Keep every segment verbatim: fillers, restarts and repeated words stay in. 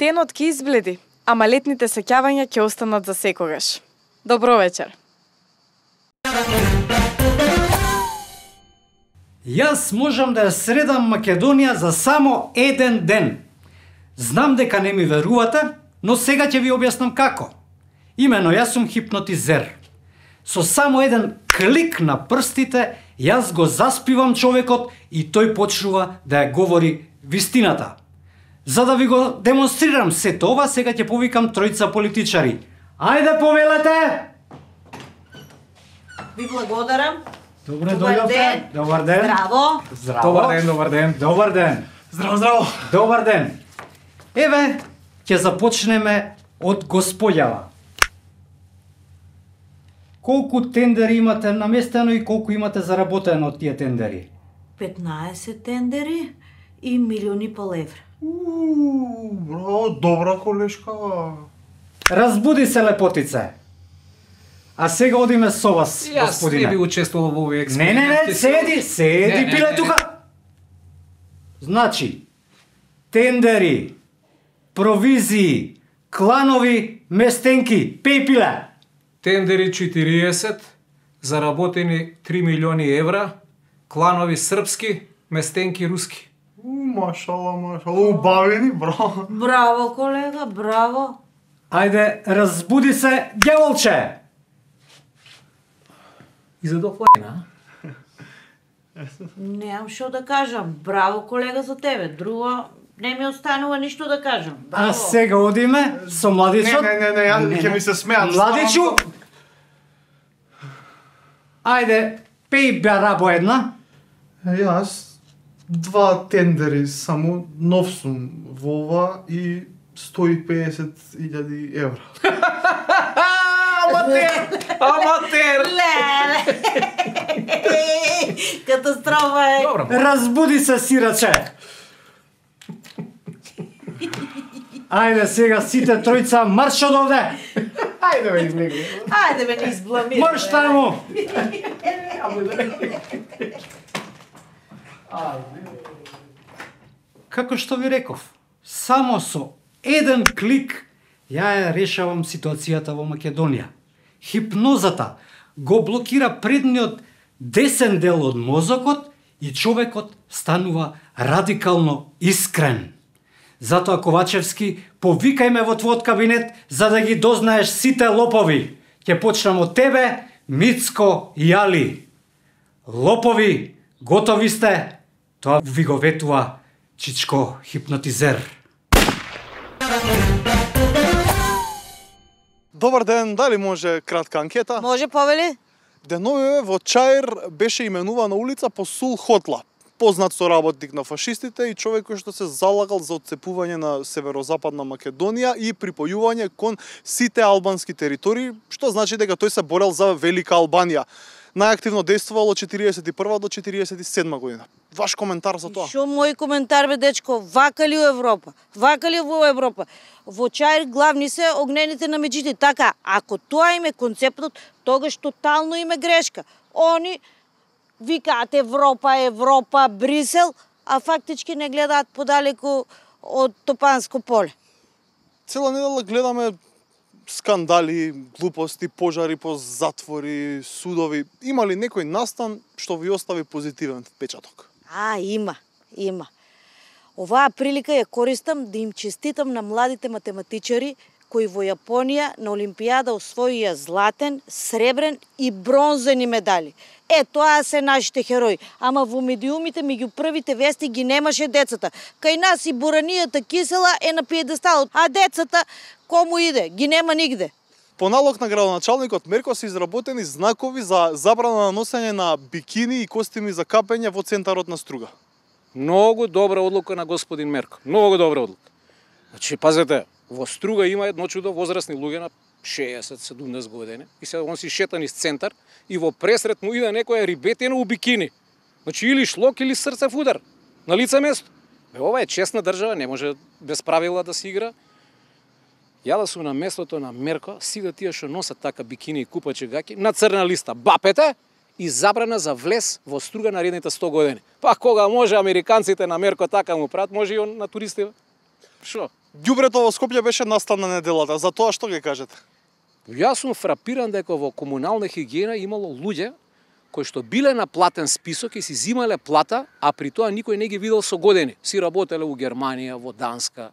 денот ќе избледи, ама летните сеќавања ќе останат за секогаш. Добро вечер. Јас можам да ја средам Македонија за само еден ден. Знам дека не ми верувате, но сега ќе ви објаснам како. Имено, јас сум хипнотизер. Со само еден клик на прстите, јас го заспивам човекот и тој почнува да ја говори вистината. За да ви го демонстрирам сето ова, сега ќе повикам тројца политичари. Ајде, повелете! Ви благодарам. Добре, Добар дојдовте. ден. Добар ден. Здраво. Здраво. Добар ден, добар ден. Добар ден. Здраво, здраво. Добар ден. Еве, ќе започнеме од господјава. Колку тендери имате наместено и колку имате заработено од тие тендери? петнаесет тендери и милиони и пол евра. Уу, браво, добра колешка. Разбуди се, лепотице. А сега одиме со вас, Јас господине. не би учествувал во овој Не, експеримент. не, не, седи, седи, Не, не, пиле не, тука. Значи, тендери, провизии, кланови, местенки, пеј пиле. Тендери четириесет, заработени три милиони евра, кланови српски, местенки руски. Машала, машала, убавени, браво. Браво, колега, браво. Ајде, разбуди се, ѓаволче. И за доклајна. Немам што да кажам. Браво, колега, за тебе. Друго не ми останува ништо да кажам. Браво. А сега одиме со Не, младичот. не, не, не, ја ќе ми се смеат. Младичу. Ајде, пеј барабо една. Јас два тендери само нов сум во ова и сто и педесет илјади евра. Аматер! Аматер! Леле! Катастрофа е. Добро. Разбуди се, сираче. Ајде сега сите тројца марш од овде. Ајде ме излеги. Ајде ме не избламирай. Марш таму. Како што ви реков, само со еден клик ја ја решавам ситуацијата во Македонија. Хипнозата го блокира предниот десен дел од мозокот и човекот станува радикално искрен. Затоа, Ковачевски, повикај ме во твојот кабинет за да ги дознаеш сите лопови. Ќе почнам од тебе, Мицко и Али. Лопови, готови сте? Тоа ви го ветува Чичко хипнотизер. Добар ден, дали може кратка анкета? Може, повели? Деновиве во Чаир беше именувана улица по Сул Хотла, познат соработник на фашистите и човек кој што се залагал за отцепување на северозападна Македонија и припојување кон сите албански територии, што значи дека тој се борел за Велика Албанија. Најактивно действувал од четириесет и прва до четириесет и седма година. Ваш коментар за тоа? Шо мој коментар бе, дечко? Вака ли у Европа? Вака ли во Европа? Во Чаир главни се огнените на меѓите. Така, ако тоа им е концептот, тогаш тотално им е грешка. Они викаат Европа, Европа, Брисел, а фактички не гледаат подалеку од Топанско поле. Цела недела гледаме скандали, глупости, пожари по затвори, судови. Има ли некој настан што ви остави позитивен впечаток? А, има, има. Оваа прилика ја користам да им честитам на младите математичари кои во Јапонија на Олимпијада освоија златен, сребрен и бронзени медали. Е, тоа се нашите херои. Ама во медиумите меѓу првите вести ги немаше децата. Кај нас и буранијата кисела е на пиедесталот, а децата кому иде? Ги нема нигде. По налог на градоначалникот Мерко се изработени знакови за забрана на носење на бикини и костими за капење во центарот на Струга. Многу добра одлука на господин Мерко. Многу добра одлука. Значи, пазете, во Струга има едно чудо возрастни луѓе на шеесет седумдесет години и се он си шетан из центар и во пресрет му иде некоја рибетина у бикини. Значи или шлок или срцев удар на лице место. Бе, ова е честна држава, не може без правила да се игра. Ја да сум на местото на Мерко, сите тие што носат така бикини и купачи гаки на црна листа бапете и забрана за влез во Струга наредните сто години. Па кога може американците на Мерко така му прават, може и он на туристи. Шо? ѓубрето во Скопје беше настана неделата, за тоа што ги кажете? Јас сум фрапиран дека во комунална хигиена имало луѓе кои што биле на платен список и си зимале плата, а при тоа никој не ги видел со години. Си работеле у Германија, во Данска.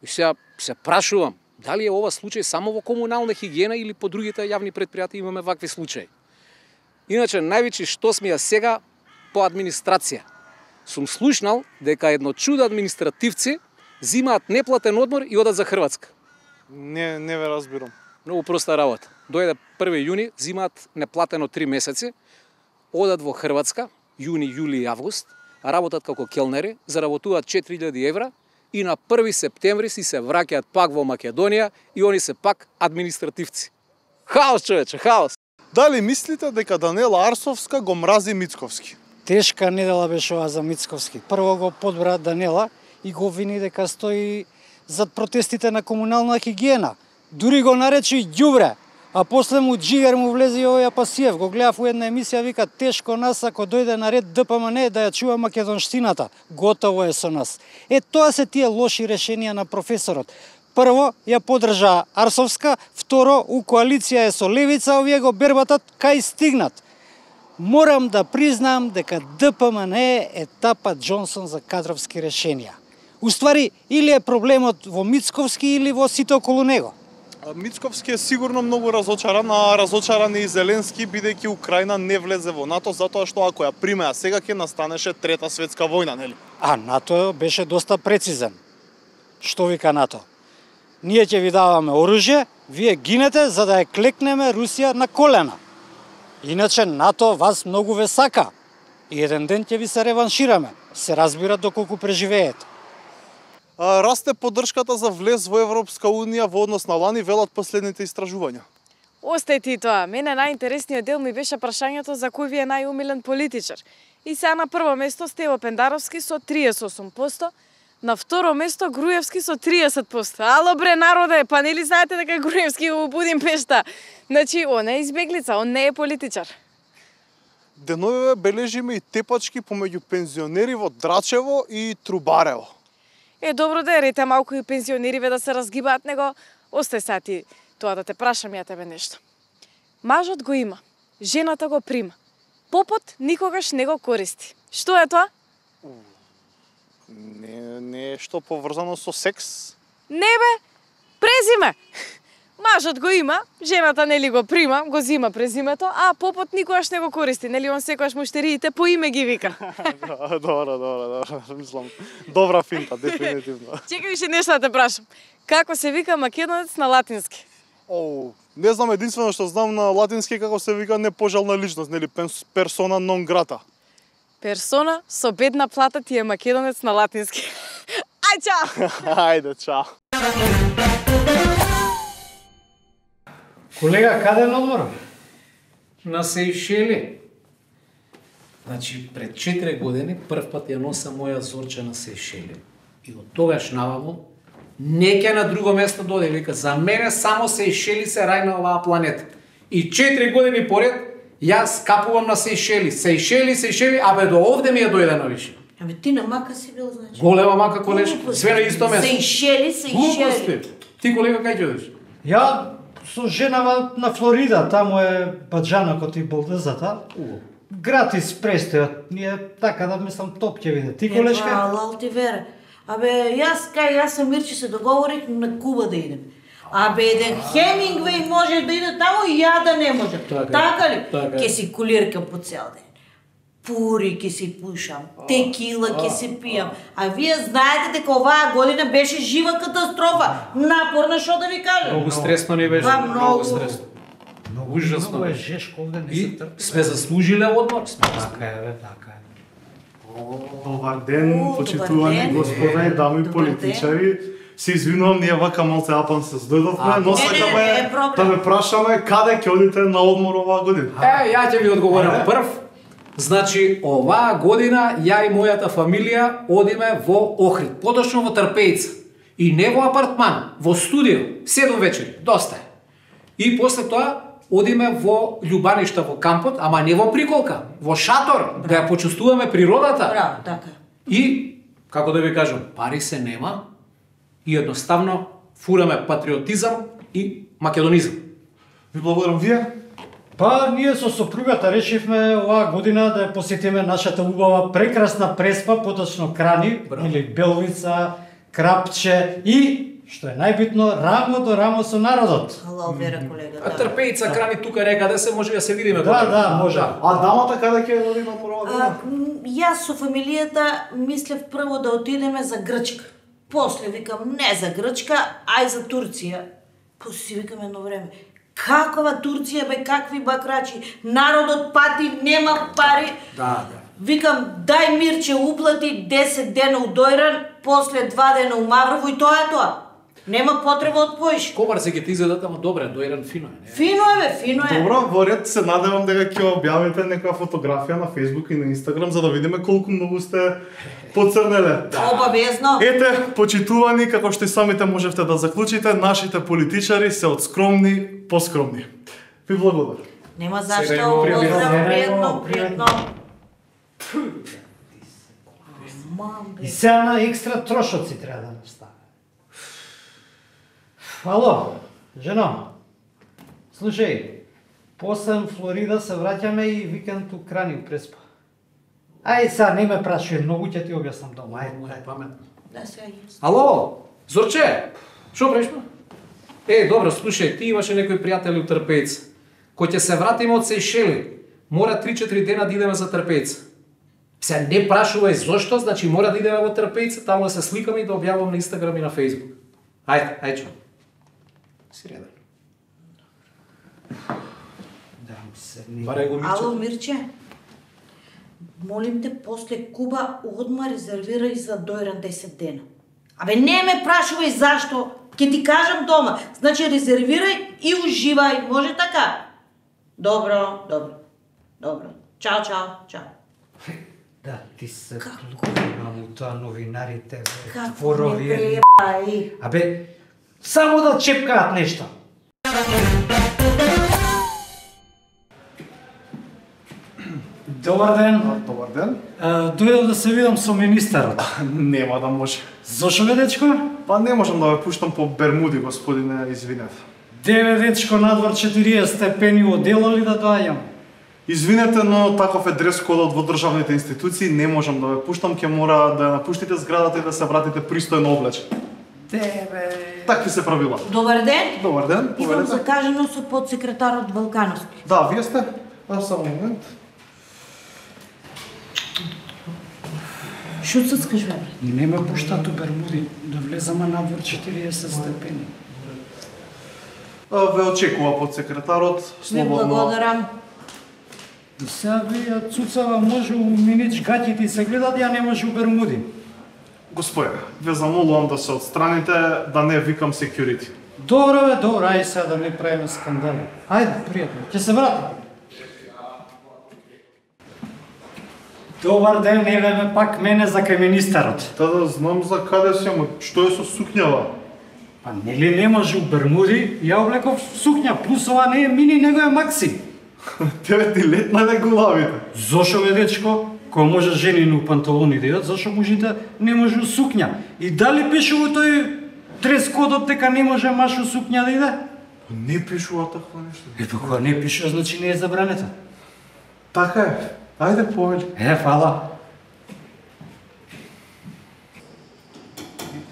И сега се прашувам, дали е ова случај само во комунална хигиена или по другите јавни предпријатија имаме вакви случаи. Иначе, највеќе што сме ја сега по администрација. Сум слушнал дека едно чудо административци зимаат неплатен одмор и одат за Хрватска. Не, не ве разбирам. Многу проста работа. Дојде први јуни, зимаат неплатено три месеци, одат во Хрватска, јуни, јули и август, работат како келнери, заработуваат четири илјади евра и на први септември си се враќаат пак во Македонија и они се пак административци. Хаос, човече, хаос! Дали мислите дека Данела Арсовска го мрази Мицковски? Тешка недела беше ова за Мицковски. Прво го подбра Данела и го вини дека стои зад протестите на комунална хигиена. Дури го наречи ѓубре, а после му джигер му влезе и овој Апасиев. Го гледав у една емисија, вика, тешко нас ако дојде на ред Д П М Н да ја чува македонштината. Готово е со нас. Е, тоа се тие лоши решенија на професорот. Прво, ја подржа Арсовска, второ, у коалиција е со Левица, овие го бербатат кај стигнат. Морам да признам дека Д П М Н е етапа Џонсон за кадровски решенија. Уствари, или е проблемот во Мицковски или во сите околу него. Мицковски е сигурно многу разочаран, а разочаран е и Зеленски, бидејќи Украина не влезе во НАТО, затоа што ако ја примеа сега ќе настанеше трета светска војна, нели? А НАТО беше доста прецизен. Што вика НАТО? Ние ќе ви даваме оружје, вие гинете за да ја клекнеме Русија на колена. Иначе НАТО вас многу ве сака. И еден ден ќе ви се реваншираме. Се разбира доколку преживеете. А, расте поддршката за влез во Европска Унија во однос на лани, велат последните истражувања. Остај ти тоа. Мене најинтересниот дел ми беше прашањето за кој ви е најумилен политичар. И сега на прво место Стево Пендаровски со триесет и осум проценти, на второ место Груевски со триесет проценти. Ало бре народе, па нели знаете дека Груевски во Будимпешта? Значи, он е избеглица, он не е политичар. Деновиве бележиме и тепачки помеѓу пензионери во Драчево и Трубарево. Е, добро да ерите малку и пензионериве да се разгибаат, него остај сега ти тоа да те прашам ја тебе нешто. Мажот го има, жената го прима. Попот никогаш не го користи. Што е тоа? Не, не е што поврзано со секс? Не бе, презиме. Мажот го има, жената нели го прима, го зима презимето, а попот никогаш не го користи, нели он секогаш муштериите по име ги вика. Добро, добро, добро, мислам. Добра финта, дефинитивно. Чекај уште нешто да те прашам. Како се вика македонец на латински? Оу, не знам, единствено што знам на латински како се вика непожелна личност, нели персона нон грата. Персона со бедна плата ти е македонец на латински. Ај, чао! Ајде, чао. Колега, каде е одморот? На Сејшели. Значи, пред четири години прв пат ја носа моја Зорче на Сејшели. И од тогаш наваму не ќе на друго место дојде. Вика, за мене само Сејшели се рај на оваа планета. И четири години поред јас капувам на Сејшели. Сејшели, Сејшели, абе до овде ми ја дојде на више. Абе ти на мака си бил, значи. Голема мака колеш, све на исто место. Сејшели, Сејшели. Ти колега кај ќе одиш? Ја со женава на Флорида, таму е баџанокот и болдезата. Гратис престојот. Ние така да мислам топ ќе биде. Ти колешка? Еба, лал ти вере. Абе, јас кај јас со Мирчи се договорих на Куба да идем. Абе, еден Хемингвеј може да иде таму и ја да не може. Така, така ли? така. Ке си кулирка по цел ден. Пури ке си пушам, текила ке си пијам. А вие знаете дека оваа година беше жива катастрофа. Напорна, што да ви кажам. Многу стресно ни беше, Ба, многу многу. стресно. Многу Ужасно Многу е беше. жешко овде, не И се трпи. сме заслужиле одмор. Сме Така е, бе, така е. Добар ден, О, почитувани добар ден. господа и дами Добар политичари. Се извинувам, ние вака малце апан се здојдовме, но не, не, не, не е сакаме проблем. да ме прашаме каде ќе одите на одмор оваа година. Е, ја ќе ви одговорам прв. Значи, оваа година ја и мојата фамилија одиме во Охрид, поточно во Трпејца. И не во апартман, во студио, седум вечери, доста е. И после тоа одиме во Љубаништа во кампот, ама не во приколка, во шатор, да ја почувствуваме природата. Браво, така. И, како да ви кажам, пари се нема, и едноставно фураме патриотизам и македонизам. Ви благодарам вие. Па, ние со сопругата решивме оваа година да ја посетиме нашата убава прекрасна Преспа, поточно Крани, Браво. или Белвица, Крапче и, што е најбитно, рамо до рамо со народот. Ало, вера колега, А да. Трпеица Крани тука река да се може да се видиме. Да, да, може. А дамата каде ќе оди на прва А, година? м, јас со фамилијата мислев прво да отидеме за Грчка. После викам не за Грчка, ај за Турција. После си викам едно време, каква Турција бе, какви бакрачи, народот пати, нема пари. Да, да. Викам, дај Мирче уплати десет дена у Дојран, после два дена у Маврово и тоа е тоа. Нема потреба од поиш. Комар се ќе ти изгледат, ама добре, Дојран фино е, не? Фино е бе, фино е. Добро, во ред се надевам дека ќе објавите некоја фотографија на Facebook и на Instagram за да видиме колку многу сте поцрнеле. Обавезно. Ете, почитувани, како што и самите можевте да заклучите, нашите политичари се од скромни поскромни. Ви благодарам. Нема Сега зашто, имamo поздрав, пријатно. пријатно, Пријатно. пријатно. Мам, И бе. сега на екстра трошоци треба да настави. Ало, жено, слушај, после Флорида се враќаме и викенд у Крани у Преспа. Ај сега не ме прашуј, многу ќе ти објаснам дома, ајде. Моја памет. Да, сега јас. Ало, Зорче, што правиш бе? Е, добро, слушај, ти имаше некои пријатели у Трпејца. Кој ќе се вратиме од Сејшели, мора три-четири дена да идеме за Трпејца. Се не прашувај зошто, значи мора да идеме во Трпејца, таму да се сликаме и да објавам на Инстаграм и на Фејсбук. Ајде, ајде чу. Си редан. Да, седни. Барај го Ало, Мирче. Мирче. Молим те, после Куба одма резервирај за Дојран десет дена. Абе, не ме прашувај зашто, ќе ти кажам дома. Значи, резервирај и уживај, може така? Добро, добро, добро. Чао, чао, чао. Да, ти се Како? клукна му тоа новинарите, бе, Како не творовија. пребај. Абе, само да чепкаат нешто. Добар ден. Добар ден. А, дојдов да се видам со министерот. Нема да може. Зошо бе, дечко? Па не можам да ве пуштам по Бермуди, господине, извинете. Деве, дечко, надвор четириесет степени, одело ли да доаѓам? Извинете, но таков е дрес кодот во државните институции, не можам да ве пуштам, ќе мора да ја напуштите зградата и да се вратите пристојно облечени. Деве. Такви се правила. Добар ден. Добар ден, Идам повелете. закажано со подсекретарот Балкановски. Да, вие сте? А, само момент. Шо ццкаш, бе? Не ме пуштат у Бермуди, да влезаме надвор четириесет степени. А, ве очекува подсекретарот, Ви слободно. благодарам. Сега ви ја цуцава може у минич гаќите и се гледат, ја не може у Бермуди. Господе, ве замолувам да се отстраните, да не викам security. Добро бе, добро, ај сега да не правиме скандали. Ајде, пријатно, ќе се вратам. Добар ден, еве ме пак мене за кај министерот. Та да знам за каде си, ама што е со сукњава? Па нели не може у Бермуди, ја облеков сукња, плюс ова не е мини, него е макси. Тебе ти летна не главите. Зошо бе, дечко? Кој може жени у панталони да идат, зашо мужите не може у сукња? И дали пише во тој дрес-кодот дека не може маш у сукња да иде? Не пишува такво нешто. Е, па кога не пише, значи не е забранета. Така е. Ајде повели. Е, фала.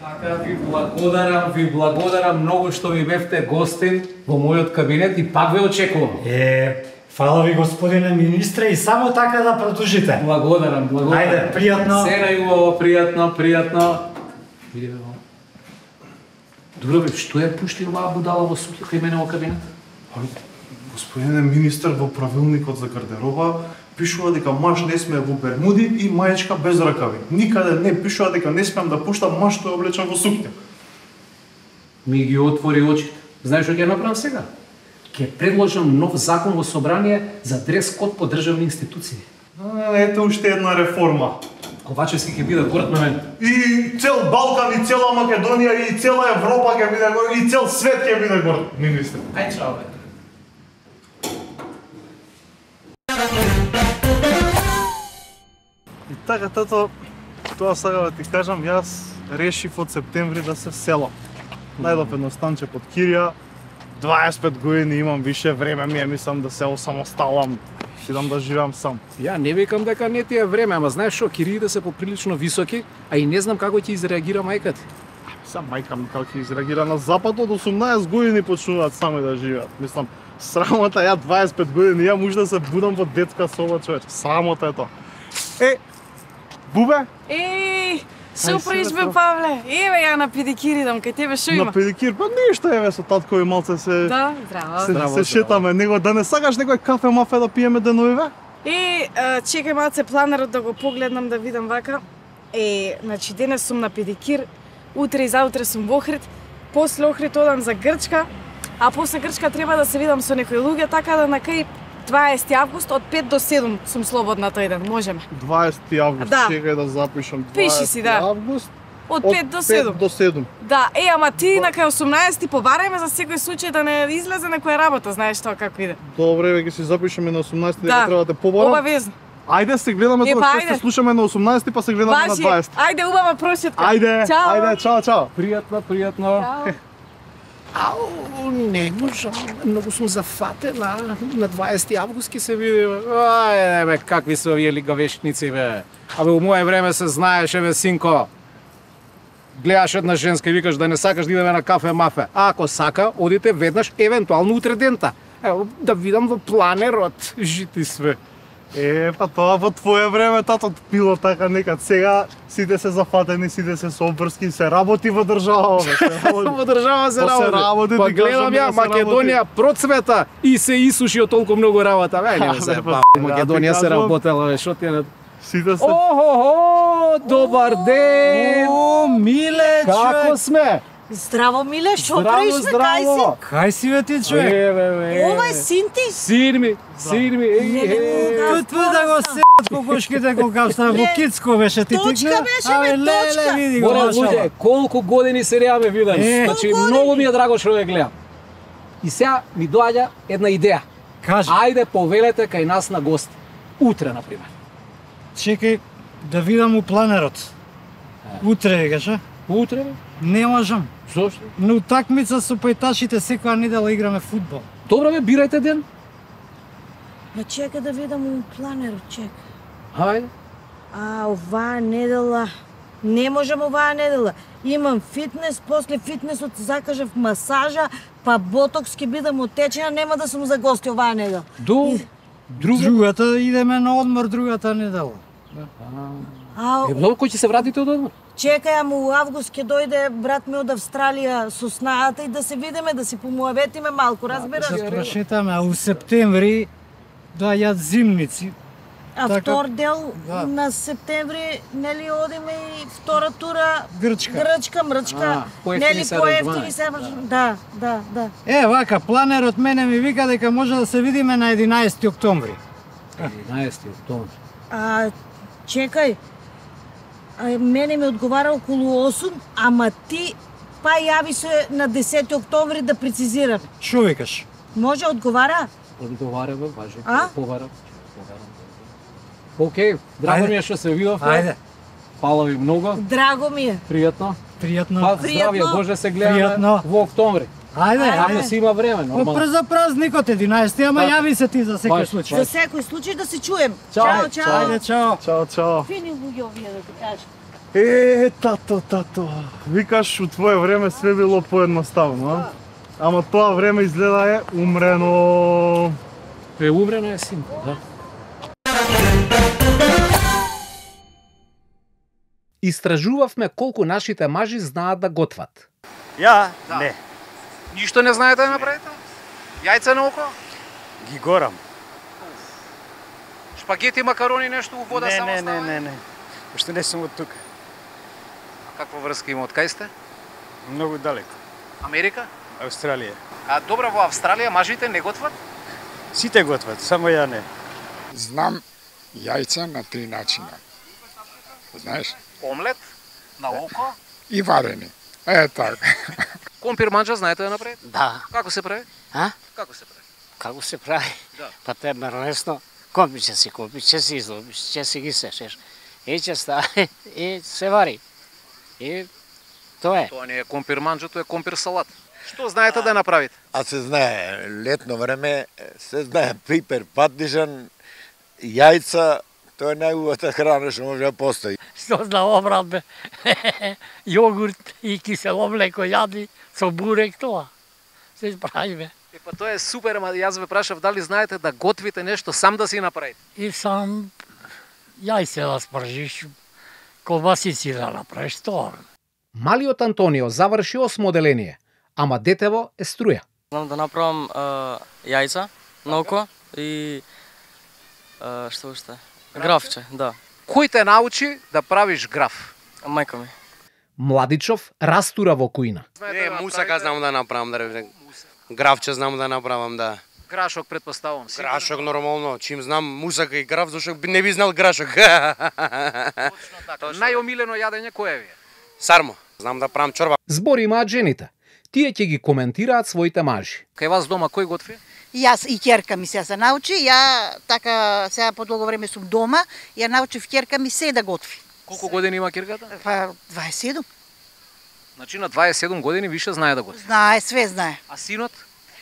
Така, ви благодарам, ви благодарам многу што ми бевте гостин во мојот кабинет и пак ве очекувам. Е, фала ви, господине министре, и само така да продолжите. Благодарам, благодарам. Ајде, пријатно. Се најубаво, пријатно, пријатно. Види бе, во. Добро бе, што ја пушти оваа будала во сукја кај мене во кабинет? Господине министер, во правилникот за гардероба пишува дека маж не смее во бермуди и маечка без ракави. Никаде не пишува дека не смеам да пуштам маж што е облечен во сукња. Ми ги отвори очите. Знаеш што ќе направам сега? Ќе предложам нов закон во собрание за дрес код по државни институции. А, ето уште една реформа. Ковачевски ќе биде горд на мене. И цел Балкан, и цела Македонија, и цела Европа ќе биде горд, и цел свет ќе биде горд, министер. Ај чао бе. И така, тато, Тоа сега да ти кажам, јас решив од септември да се селам. Најдов едно станче под кирија, дваесет и пет години имам, више време ми е, мислам да се осамосталам, идам да живеам сам. Ја не викам дека не ти е време, ама знаеш што, кириите се поприлично високи, а и не знам како ќе изреагира мајка ти. Сам мајка ми како ќе изреагира на запад, од осумнаесет години почнуваат сами да живеат. Мислам, срамота, ја дваесет и пет години, ја може да се будам во детска соба, човече. Срамота е тоа. Е, Бубе? Еј, супер избе, Павле. Еве ја на педикир идам, кај тебе шо има? На педикир, па ништо, еве со татко и малце се... Да, здраво. Се, Здраво, се шетаме, него да не сакаш некој кафе мафе да пиеме деновиве? И а, чекај малце планерот да го погледнам да видам вака. Е, значи денес сум на педикир, утре и заутре сум во Охрид, после Охрид одам за Грчка, а после Грчка треба да се видам со некои луѓе, така да на кај дваесети август од пет до седум сум слободна тој ден, можеме. дваесети август, Да. чекај да запишам. Пиши си, да. дваесети август, Од пет до седум. до седум. Да, е, ама ти на кај осумнаесети побарај ме за секој случај да не излезе некоја работа, знаеш тоа како иде. Добре, веќе си запишеме на осумнаесети, Да. дека треба да те побарам. Обавезно. Ајде се гледаме Е, тоа па, што ајде. се слушаме на осумнаесети, па се гледаме на Важи. дваесети. Ајде, убава прошетка. Ајде, Чао. ајде, чао, чао. Пријатно, пријатно. Чао. Ау, не можам, многу сум зафатена. На дваесети август ќе се видиме. Ај, бе, какви се овие лигавешници, бе. Абе, у моје време се знаеше, бе, синко. Гледаш една женска и викаш да не сакаш да идеме на кафе мафе. А ако сака, одите веднаш, евентуално утре дента. Ево, да видам во планерот, жити све. Е, па тоа во твое време тато било така некад. Сега сите се зафатени, сите се со обврски, се работи во држава, бе. Се работи. Во држава се Па се работи. работи, Па ти гледам кажам, ја, да се Македонија процвета и се исуши од толку многу работа. Бе, не А, се бе, ба, па, Македонија ти се кажувам. работела, бе, шо ти е на... Сите се... Охо, добар ден! О, миле, Како човек! сме? Здраво, Миле, шо Здраво, правиш, бе, кај си? здраво. Кај си бе ти, човек? Еве, бе. Ова е син ти? Син ми, син ми, еј, Не, не, еј. не, Тут да го сеат кокошките кога стана во Ле, Кицко беше ти точка тикна. беше, бе, Абе, леле, точка. види го, Море машала. луѓе, колку години се реаме видам. Е. Значи, Сто години. многу ми е драго што ве гледам. И сега ми доаѓа една идеја. Кажи, Ајде повелете кај нас на гости. Утре, на пример. чекај да видам у планерот. Утре викаш, а? Утре, бе? Не можам. Зошто? На утакмица со пајташите секоја недела играме фудбал. Добро бе, бирајте ден. Ма чека да видам у планерот, чека. Ајде. А, оваа недела... Не можам оваа недела. Имам фитнес, после фитнесот закажав масажа, па ботокс ќе бидам отечена, нема да сум за гости оваа недела. До друга. Другата идеме на одмор другата недела. А, Е, добро, кој ќе се вратите од одмор? чекај, ама у август ќе дојде брат ми од Австралија со снаата и да се видиме, да си помуаветиме малку, разбираш? Да прошетаме, а у септември доаѓаат зимници. А така, втор дел да. на септември, нели одиме и втора тура Грчка. Грчка, мрчка, А, поевтини нели се поевтини аранжмани. се. Да, да, да. Е, вака, планерот мене ми вика дека може да се видиме на единаесети октомври. единаесети октомври. А чекај. А, мене ми одговара околу осум, ама ти па јави се на десети октомври да прецизираме. Шо викаш? Може одговара? Одговара бе, важи. А? Повара. Океј, драго Ајде. ми е што се видовме. Ајде, Фала ви многу. Драго ми е. Пријатно. пријатно. Па здравје, Пријатно. Боже се гледаме Пријатно. во октомври. Ајде, Ако ајде. си има време, Па нормално. прз за празникот единаесети, ама Така. јави се ти за секој Баш, случај. За секој случај да се чуем. Чао. Чао, чао. Ајде, чао. Чао, чао. Фини луѓе овие да ти кажам. Е, тато, тато. Викаш, у твое време све било поедноставно, а? Ама тоа време изгледа е умрено. Е, умрено е син, да. Истражувавме колку нашите мажи знаат да готват. Ја? Не. Ништо не знаете да направите? Јајца на око? Ги горам. Шпагети, макарони, нешто у вода не, само не, не, става? не, не. Уште не сум од тука. А каква врска има, од кај сте? Многу далеко. Америка? Австралија. А добро, во Австралија мажите не готват? Сите готват, само ја не. Знам јајца на три начина. Знаеш? Омлет, на око, И варени. Е, така. компир манџа знаете да направите? Да. Како се прави? А? Како се прави? Како се прави? Да. Па те е лесно. Компиче си, компиче си, излобиче си ги сешеш. И ќе стави, и се вари. И тоа е. Тоа не е компир манџа, тоа е компир салат. Што знаете да направите? А се знае, летно време, се знае пипер, патнишан, јајца, тоа е најубавата храна што може да постои. Што зна обрат бе, јогурт и кисело млеко јади со бурек тоа. Се прави бе. Е, па тоа е супер, ама јас ве прашав дали знаете да готвите нешто сам да си направите? И сам јајце да спржиш, колбасици да направиш тоа. Малиот Антонио заврши осмо оделение, ама детево е струја. Знам да направам а, јајца, ноко и а, што уште? Графче, да. Кој те научи да правиш граф? Мајка ми. Младичов растура во кујна. Не, мусака знам да направам, да речем. Графче знам да направам, да. Грашок предпоставувам. Грашок нормално, чим знам мусака и граф, зашто не би знал грашок. Точно така. Најомилено јадење кое ви е? Сармо, знам да правам чорба. Збори имаат жените. Тие ќе ги коментираат своите мажи. Кај вас дома кој готви? Јас и ќерка ми се се научи, ја така сега по долго време сум дома, ја научив ќерка ми се да готви. Колку години има ќерката? Па дваесет и седум. Значи на дваесет и седум години више знае да готви. Знае, све знае. А синот?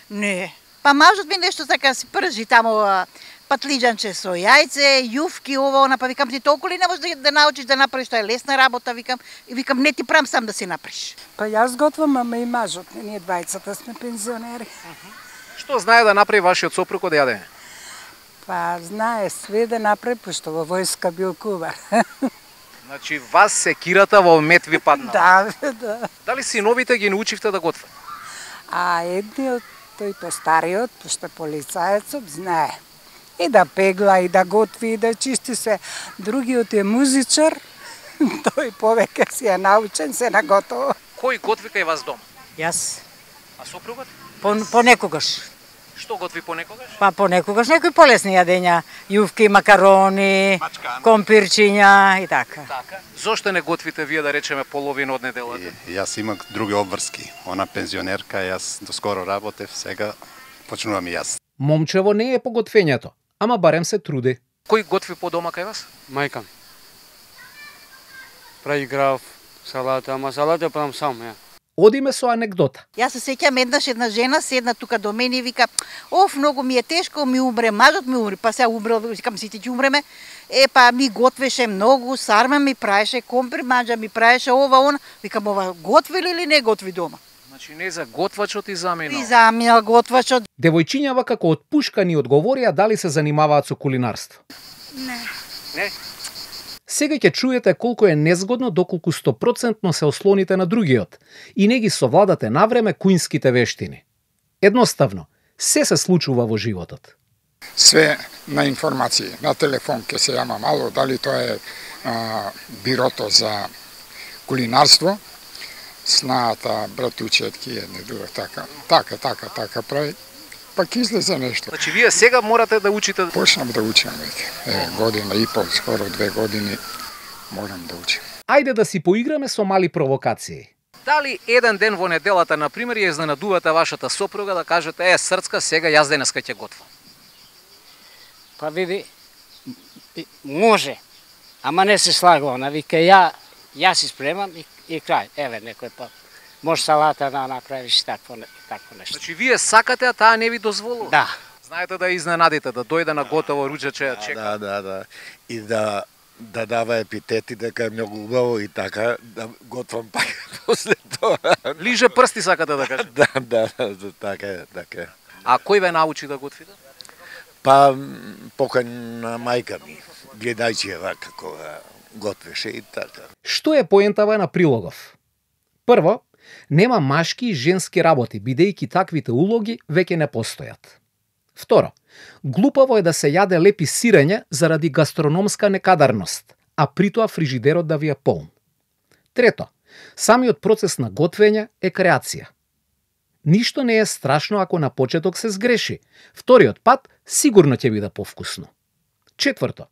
Не. Па мажот ми нешто така си пржи таму патлиџанче со јајце, јуфки, ова, она, па викам ти толку ли не можеш да, да научиш да направиш, тоа е лесна работа, викам, и викам не ти прам сам да си направиш. Па јас готвам, ама и мажот, ние двајцата сме пензионери. Што знае да направи вашиот сопруг од јадење? Па знае све да направи, пошто во војска бил кувар. Значи вас секирата во мет ви падна. Да, да. Дали синовите ги научивте да готват? А едниот, тој постариот, пошто полицаецот, знае. И да пегла, и да готви, и да чисти се. Другиот е музичар, тој повеќе си е научен, се наготово. Кој готви кај вас дома? Јас. А сопругот? По, понекогаш. Што готви понекогаш? Па понекогаш некои полесни јадења, јувки, макарони, компирчиња и така. Така. Зошто не готвите вие да речеме половина од неделата? Јас имам други обврски. Она пензионерка, јас доскоро работев, сега почнувам и јас. Момчево не е по готвењето, ама барем се труди. Кој готви по дома кај вас? Мајка ми. Прави граф, салата, ама салата правам сам, ја. Одиме со анекдота. Јас се сеќам еднаш една жена седна тука до мене и вика: "Оф, многу ми е тешко, ми умре мажот, ми умре." Па сега умрел, викам сите ќе умреме. Е, па ми готвеше многу, сарма ми праеше, компир манџа ми праеше ова она. Викам: "Ова готви ли или не готви дома?" Значи не за готвачот и заминал. И заминал готвачот. Девојчињава како од пушка ни одговорија дали се занимаваат со кулинарство. Не. Не. Сега ќе чуете колку е незгодно доколку сто проценти се ослоните на другиот и не ги совладате навреме куинските вештини. Едноставно, се се случува во животот. Све на информации, на телефон ќе се јама мало, дали тоа е а, бирото за кулинарство, снаата, братучетки, едне друга, така, така, така, така прави, па ќе излезе нешто. Значи вие сега морате да учите... Почнам да учам веќе, е, година и пол, скоро две години, морам да учам. Ајде да си поиграме со мали провокации. Дали еден ден во неделата, например, ја изненадувате вашата сопруга да кажете: "Е, срцка, сега јас денеска ќе готвам"? Па види, може, ама не се слага она, вика ја, јас си спремам и, и крај, еве некој па. Може салата да направиш такво, такво нешто. Значи вие сакате, а таа не ви дозволува? Да. Знаете да изненадите, да дојде на готово руџаче, чека. Да, да, да. И да да дава епитети дека е многу убаво и така да готвам пак после тоа. Лиже прсти сакате да кажете? Да, да, да, така е, така е. А кој ве научи да готвите? Па покај на мајка ми, гледајќи како готвеше и така. Што е поентава на прилогов? Прво, нема машки и женски работи, бидејќи таквите улоги веќе не постојат. Второ, глупаво е да се јаде лепи сирење заради гастрономска некадарност, а притоа фрижидерот да ви е полн. Трето, самиот процес на готвење е креација. Ништо не е страшно ако на почеток се сгреши. Вториот пат сигурно ќе биде повкусно. Четврто,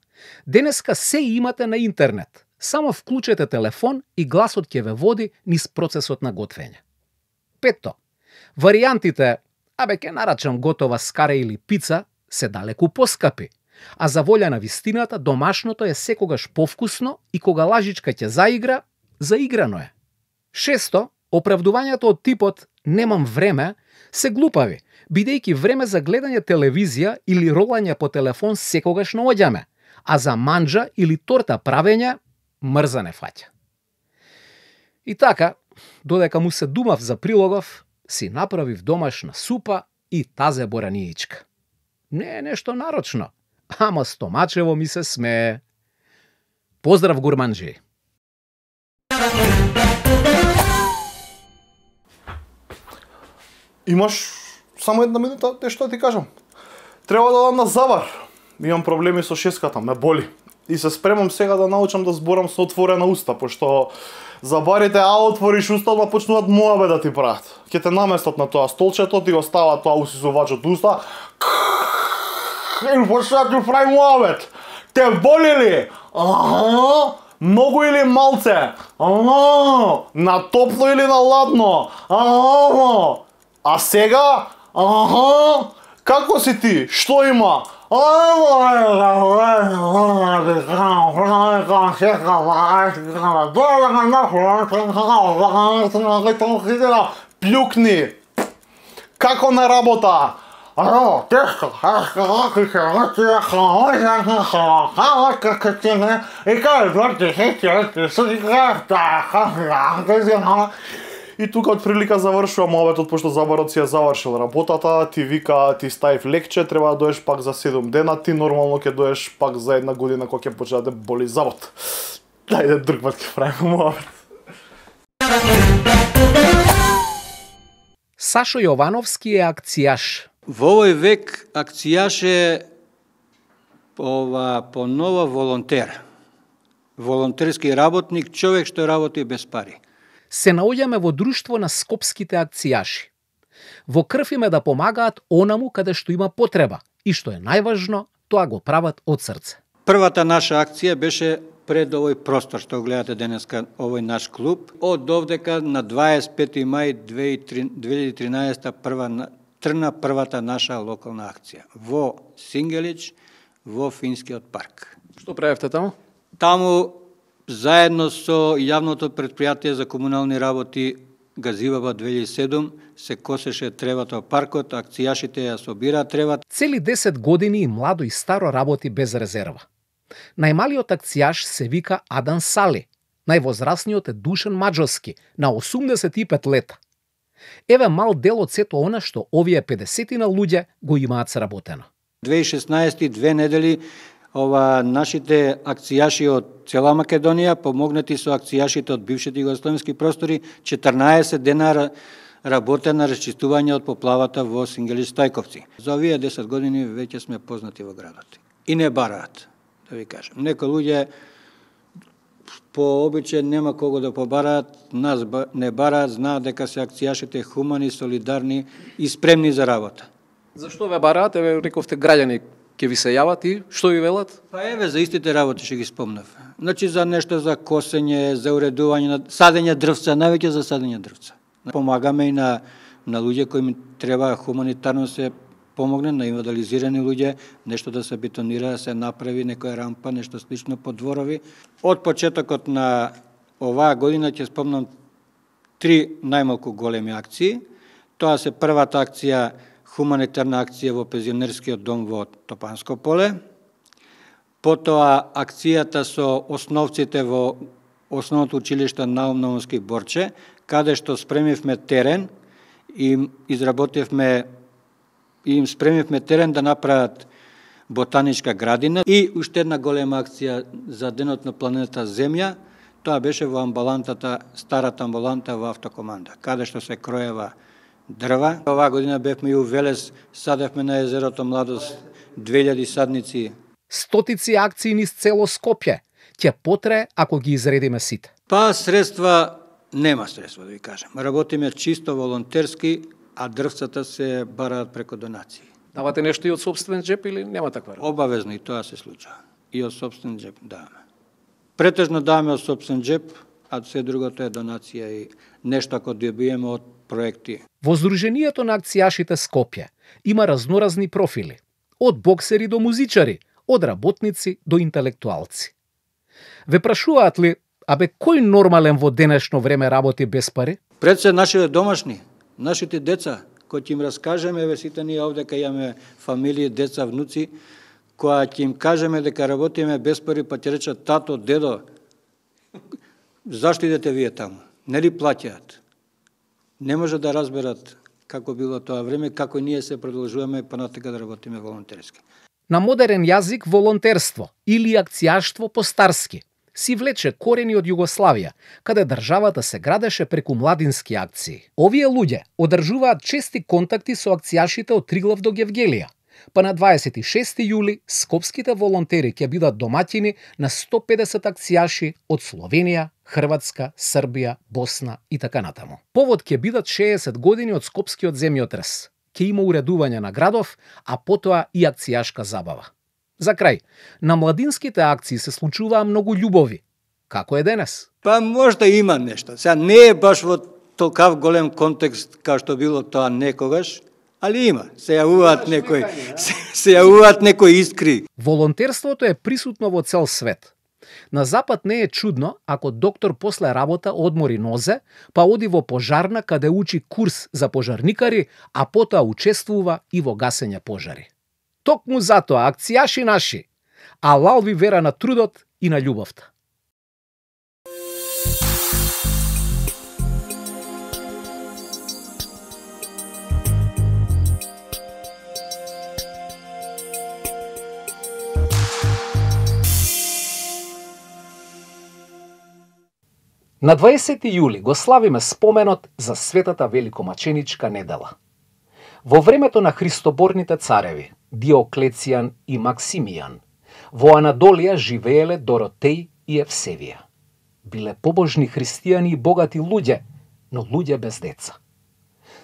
денеска се имате на интернет. Само вклучете телефон и гласот ќе ве води низ процесот на готвење. Петто, варијантите, абе ќе нарачам готова скаре или пица, се далеку поскапи, А за волја на вистината, домашното е секогаш повкусно и кога лажичка ќе заигра, заиграно е. Шесто, оправдувањето од типот «немам време» се глупави, бидејќи време за гледање телевизија или ролање по телефон секогаш наоѓаме, а за манџа или торта правење мрза не фаќа. И така, додека му се думав за прилогов, си направив домашна супа и тазе бораниичка. Не е нешто нарочно, ама стомачево ми се смее. Поздрав, гурманџи! Имаш само една минута, те што ти кажам. Треба да дам на завар. Имам проблеми со шеската, ме боли. И се спремам сега да научам да зборам со отворена уста, пошто за барите, а отвориш уста, да почнуваат моабе да ти прават. Ке те наместат на тоа столчето, ти го стават тоа усисувачот уста. И почнуваат ти прави моабет. Те боли ли? Аха. Многу или малце? Аха. На топло или на ладно? Аха. А сега? Аха. Како си ти? Што има? Плюкни. Како на работа? И тука од прилика завршувам обетот, пошто забарот си ја завршил работата, ти вика, ти ставив лекче, треба да доеш пак за седум дена, ти нормално ќе доеш пак за една година кога ќе почне да боли завод. Дајде друг пат ќе правиме обет. Сашо Јовановски е акцијаш. Во овој век акцијаш е ова понова волонтер. Волонтерски работник, човек што работи без пари. Се наоѓаме во друштво на скопските акцијаши. Во крв име да помагаат онаму каде што има потреба и што е најважно, тоа го прават од срце. Првата наша акција беше пред овој простор што гледате денеска, овој наш клуб. Од овдека на дваесет и пети мај две илјади и тринаесетта прва трна првата наша локална акција во Сингелич, во Финскиот парк. Што правевте таму? Таму заедно со јавното предпријатие за комунални работи Газиваба две илјади и седум се косеше тревата во паркот, акцијашите ја собира тревата. Цели десет години и младо и старо работи без резерва. Најмалиот акцијаш се вика Адан Сали, највозрасниот е Душан Маџоски на осумдесет и пет лета. Еве мал дел од сето она што овие педесетина луѓе го имаат сработено. две илјади и шеснаесетта две недели ова нашите акцијаши од цела Македонија помогнати со акцијашите од бившите југословенски простори четрнаесет дена работа на расчистување од поплавата во Сингелич Стајковци. За овие десет години веќе сме познати во градот. И не бараат, да ви кажам. Некои луѓе по обичај нема кого да побараат, нас не бараат, знаат дека се акцијашите хумани, солидарни и спремни за работа. Зашто ве бараат? Еве рековте граѓани ќе ви се јават и што ви велат? Па еве за истите работи што ги спомнав. Значи за нешто за косење, за уредување на садење дрвца, највеќе за садење дрвца. Помагаме и на на луѓе кои ми треба хуманитарно се помогне, на инвалидизирани луѓе, нешто да се бетонира, да се направи некоја рампа, нешто слично по дворови. Од почетокот на оваа година ќе спомнам три најмалку големи акции. Тоа се првата акција, хуманитарна акција во пензионерскиот дом во Топанско поле. Потоа акцијата со основците во основното училиште Наум Наумски Борче, каде што спремивме терен и изработивме и им спремивме терен да направат ботаничка градина. И уште една голема акција за денот на планета Земја, тоа беше во амбулантата, старата амбуланта во автокоманда, каде што се кроева дрва. Оваа година бевме и у Велес, садевме на езерото Младост две илјади садници. Стотици акции низ цело Скопје ќе потрае ако ги изредиме сите. Па средства нема средства да ви кажам. Работиме чисто волонтерски, а дрвцата се бараат преку донации. Давате нешто и од сопствен джеп или нема таква работа? Обавезно и тоа се случува. И од сопствен джеп даваме. Претежно даваме од сопствен джеп, а се другото е донација и нешто ако добиеме од проекти. Во Сдруженијето на акцијашите Скопје има разноразни профили. Од боксери до музичари, од работници до интелектуалци. Ве прашуваат ли, абе кој нормален во денешно време работи без пари? Пред се нашите домашни, нашите деца, кои ќе им раскажеме, еве сите ние овде кај имаме фамилии, деца, внуци, која ќе им кажеме дека работиме без пари, па ќе речат тато, дедо, зашто идете вие таму? Нели плаќаат? Не може да разберат како било тоа време, како ние се продолжуваме понатака да работиме волонтерски. На модерен јазик волонтерство или акцијаштво по-старски си влече корени од Југославија, каде државата се градеше преку младински акции. Овие луѓе одржуваат чести контакти со акцијашите од Триглав до Гевгелија, па на дваесет и шести јули скопските волонтери ќе бидат домаќини на сто педесет акцијаши од Словенија, Хрватска, Србија, Босна и така натаму. Повод ќе бидат шеесет години од скопскиот земјотрес. Ќе има уредување на градов, а потоа и акцијашка забава. За крај, на младинските акции се случуваа многу љубови. Како е денес? Па можда има нешто. Сега не е баш во толкав голем контекст како што било тоа некогаш, али има. Се јавуваат некои, се, се јавуваат некои искри. Волонтерството е присутно во цел свет. На запад не е чудно ако доктор после работа одмори нозе, па оди во пожарна каде учи курс за пожарникари, а потоа учествува и во гасење пожари. Токму затоа акцијаши наши, алал ви вера на трудот и на љубовта. На дваесети јули го славиме споменот за светата великомаченичка недела. Во времето на христоборните цареви, Диоклецијан и Максимијан, во Анадолија живееле Доротеј и Евсевија. Биле побожни христијани и богати луѓе, но луѓе без деца.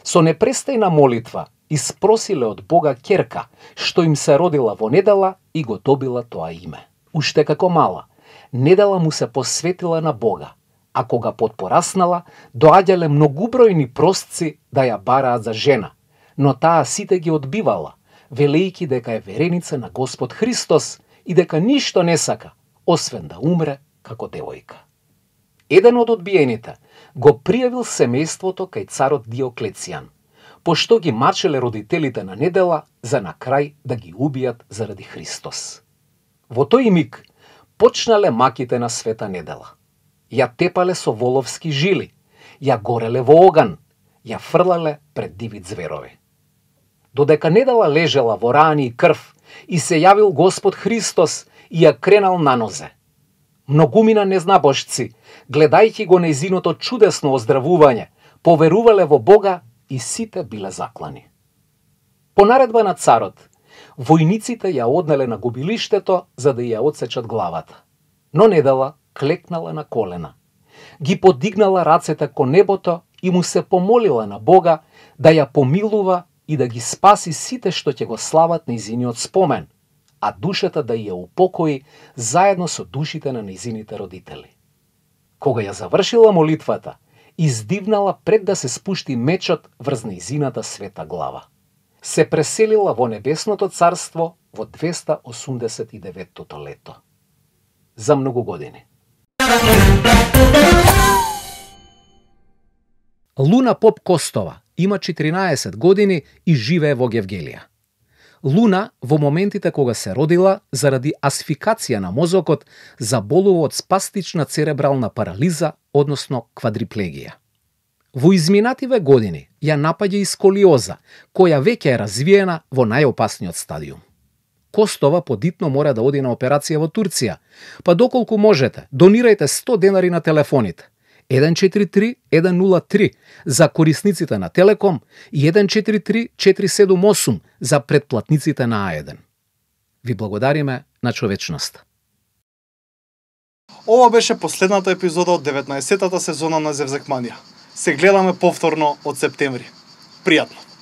Со непрестајна молитва испросиле од Бога ќерка, што им се родила во недела и го добила тоа име. Уште како мала, недела му се посветила на Бога, а кога потпораснала, доаѓале многубројни простци да ја бараат за жена, но таа сите ги одбивала, велејки дека е вереница на Господ Христос и дека ништо не сака, освен да умре како девојка. Еден од одбиените го пријавил семејството кај царот Диоклецијан, пошто ги мачеле родителите на недела за на крај да ги убијат заради Христос. Во тој миг почнале маките на света недела. Ја тепале со воловски жили, ја гореле во оган, ја фрлале пред диви зверови. Додека недела лежела во рани и крв и се јавил Господ Христос и ја кренал на нозе. Многумина незнабожци, гледајќи го нејзиното чудесно оздравување, поверувале во Бога и сите биле заклани. По наредба на царот, војниците ја однеле на губилиштето за да ја одсечат главата. Но недела клекнала на колена, ги подигнала рацете кон небото и му се помолила на Бога да ја помилува и да ги спаси сите што ќе го слават нејзиниот спомен, а душата да ја упокои заедно со душите на нејзините родители. Кога ја завршила молитвата, издивнала пред да се спушти мечот врз нејзината света глава. Се преселила во небесното царство во двеста осумдесет и деветото лето. За многу години. Луна Поп Костова има четиринаесет години и живее во Гевгелија. Луна во моментите кога се родила, заради асфикација на мозокот, заболува од спастична церебрална парализа, односно квадриплегија. Во изминативе години ја напаѓа и сколиоза, која веќе е развиена во најопасниот стадиум. Костова подитно мора да оди на операција во Турција, па доколку можете, донирајте сто денари на телефоните еден четири три еден нула три за корисниците на Телеком и еден четири три четири седум осум за претплатниците на А еден. Ви благодариме на човечноста. Ова беше последната епизода од деветнаесеттата сезона на Зевзекманија. Се гледаме повторно од септември. Пријатно!